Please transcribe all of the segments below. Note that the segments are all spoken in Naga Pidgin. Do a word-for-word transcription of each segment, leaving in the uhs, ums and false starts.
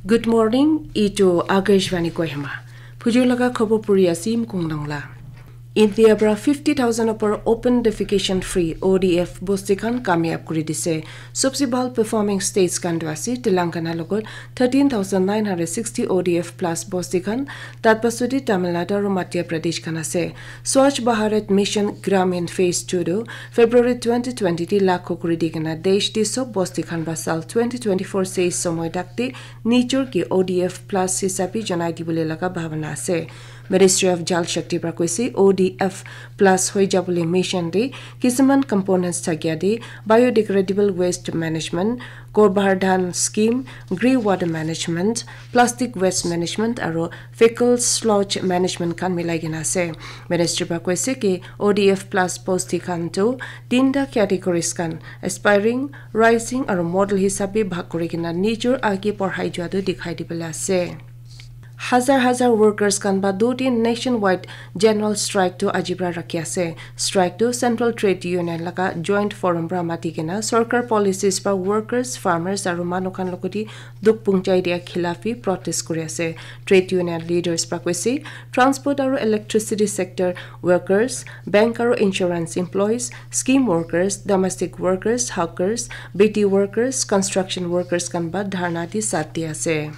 Good morning, itu Akashvani Kohima. Phujur laga khobor puri ase Mukong Dongla. India pra fifty thousand upor open defecation free O D F bosti khan kamyab kuri dise. Sobse bhal performing states khan tu ase Telangana logot thirteen thousand nine hundred sixty O D F plus bosti khan, tat pasudi Tamil Nadu aru Madhya Pradesh khan ase. Swachh Bharat Mission Gramin Phase two tu February twenty twenty te lakho kuri di kena desh di sob bosti khan ba sal twenty twenty-four se somoy dakte nijor ki O D F plus hisabi janai dibole laga bhabana ase. Ministry of Jal Shakti pra koise O D F plus hoi jabole mission de kisiman components thakia de biodegradable waste management, Gobar Dhan scheme, grey water management, plastic waste management aru fecal sludge management khan milai kena ase. Ministry pra koise ki O D F plus bosti khan tu tinta categories khan aspiring, rising aru model hisabe bhag kuri kena nijor age porhai jua tu dikhai dibole ase. Hazar hazar workers khan ba do din nationwide general strike tu aji pra rakhi ase. Strike tu Central Trade Union laga joint forum pra mati kena sorkar policies pra workers, farmers aru manu khan logoti dukh punchai dia khilafi protest kuri ase. Trade union leaders pra koise transport aru electricity sector workers, bank aru insurance employees, scheme workers, domestic workers, hawkers, B T workers, construction workers khan ba dharna di sat di ase.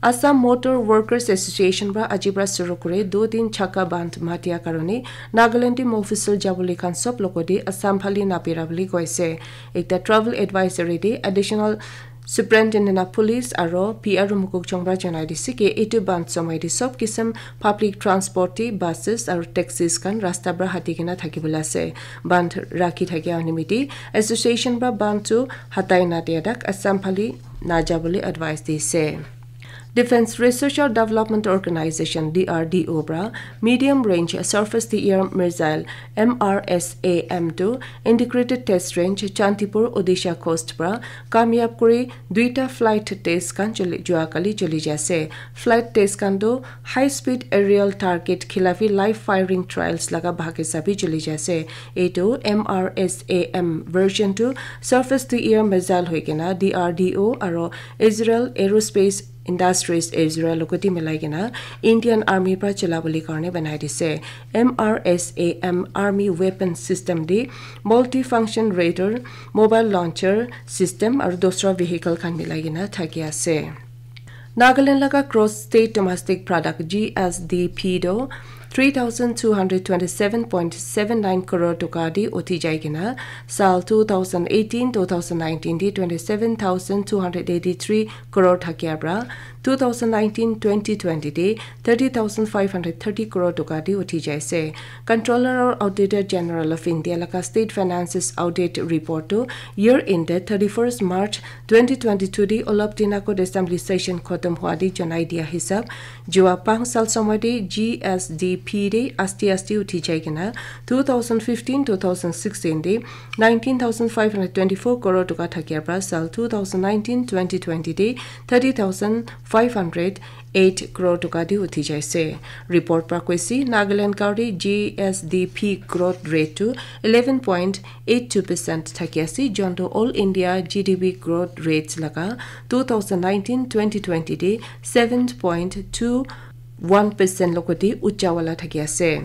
Assam Motor Workers Association pra aji pra suru kuri do din chaka bandh matia karone Nagaland te mofusal jabole khan sob logoti Assam phale napira bole koise. Ekta travel advisory te additional Superintendent of Police aro P R Mukokchung pra janai dise ki etu bandh somoi te sob kisam public transport te buses aro taxis khan rasta pra hati kena thaki bole ase. Bandh rakhi thakia nimite association pra bandh tu hatai na dia tak Assam phale na jabole advice dise. Defense Research and Development Organization, D R D O pra medium range surface to air missile, M R S A M tu integrated test range Chantipur Odisha coast pra kamyab kuri duita flight test khan choli jua kali choli jai ase. Flight test khan tu high speed aerial target khilafi live firing trials laga bhag hisabe choli jai ase. Etu M R S A M version tu surface to air missile hoi kena D R D O aro Israel Aerospace Industries Israel logoti milai kena Indian Army pra chala bole karne banai dise. M R S A M Army weapon system de multifunction radar, mobile launcher system aru dosra vehicle khan milai kena thaki ase. Nagaland laga gross state domestic product G S D P do three thousand two hundred twenty-seven point seven nine crore toka di uthi jai kena sal two thousand eighteen two thousand nineteen di twenty-seven thousand two hundred eighty-three crore thakia pra two thousand nineteen twenty twenty di thirty thousand five hundred thirty crore toka di uthi jai ase. Controller or Auditor General of India laga State Finances Audit Report to year ended thirty-first March twenty twenty-two di olop din agot assembly session khotom hua di janai dia hisab jua panch sal somoi di G S D P di asti asti uthi jai kena two thousand fifteen two thousand sixteen di nineteen thousand five hundred twenty-four crore toka thakia pra sal two thousand nineteen twenty twenty di thirty thousand five hundred eight crore toka di uthi jai ase. Report pra koise Nagaland kauri G S D P growth rate tu eleven point eight two percent thaki ase, jontu all India G D P growth rates laga two thousand nineteen twenty twenty de seven point two one percent logoti ucha wala thaki ase.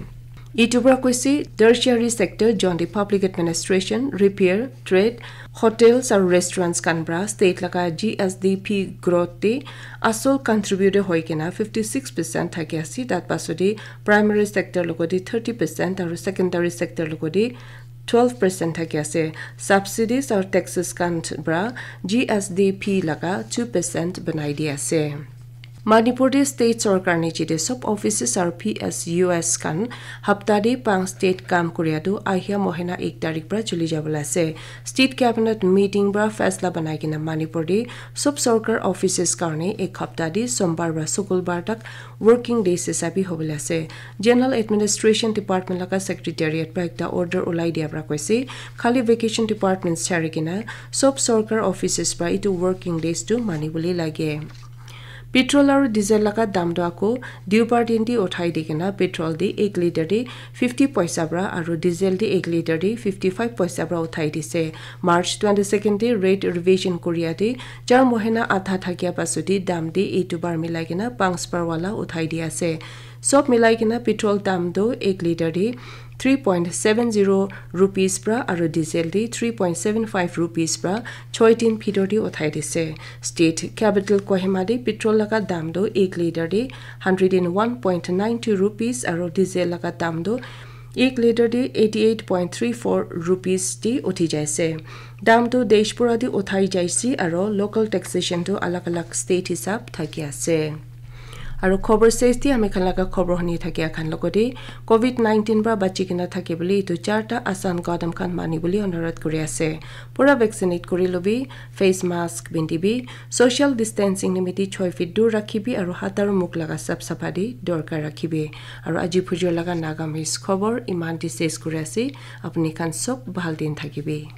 Itu pra koise tertiary sector, jontu public administration, repair, trade, hotels aru restaurants khan pra state laga G S D P growth te asol contributor hoi kena fifty six percent thaki ase. Tat pasodi primary sector logoti thirty percent aru secondary sector logoti twelve percent thaki ase. Subsidies aru taxes khan pra G S D P laga two percent banai di ase. Manipur te state sorkar niche te sob offices aru P S Us khan hapta te panch state kam kuria tu ahia mohina ek tarik pra chuli jabole ase. State cabinet meeting pra faisla banai kena Manipur te sob sorkar offices karne ek hapta te sombar pra sukulbar tak working days hisabe hobole ase. General Administration Department laga secretariat pra ekta order ulai dia pra koise, khali vacation departments chari kena sob sorkar offices pra itu working days tu mani bole lage. Petrol aru diesel laga dam tu ako Deobar din te uthai di kena petrol te ek litre te fifty paisa pra aru diesel te ek litre te fifty five paisa pra uthai dise. March twenty second te rate revision koria te char mohina adha thakia pasut te dam te etu bar milai kena panch par wala uthai di ase. Sob milai kena petrol dam tu ek litre te three point seven zero rupees pra aru diesel te three point seven five rupees pra choi din bhitor te uthai dise. State capital Kohima te petrol laga dam tu ek litre te hundred and one point nine two rupees aru diesel laga dam tu ek litre te eighty eight point three four rupees te uthi jaise. Dam tu desh pura te uthai jaise aru local taxation tu alag alag state hisab thaki ase. Aru khobor ses te ami khan laga khobor huni thakia khan logote covid nineteen pra bachi kena thaki bole etu charta asan kadam khan mani bole anurodh kuri ase. Pura vaccinate kuri lobi, face mask bindibi, social distancing nimite choi feet dur rakhibi aru hat aru mukh laga sap sapha te dorkar rakhibi. Aru aji phujor laga Nagamese khobor iman te ses kuri ase. Apni khan sob bhal din thakibi.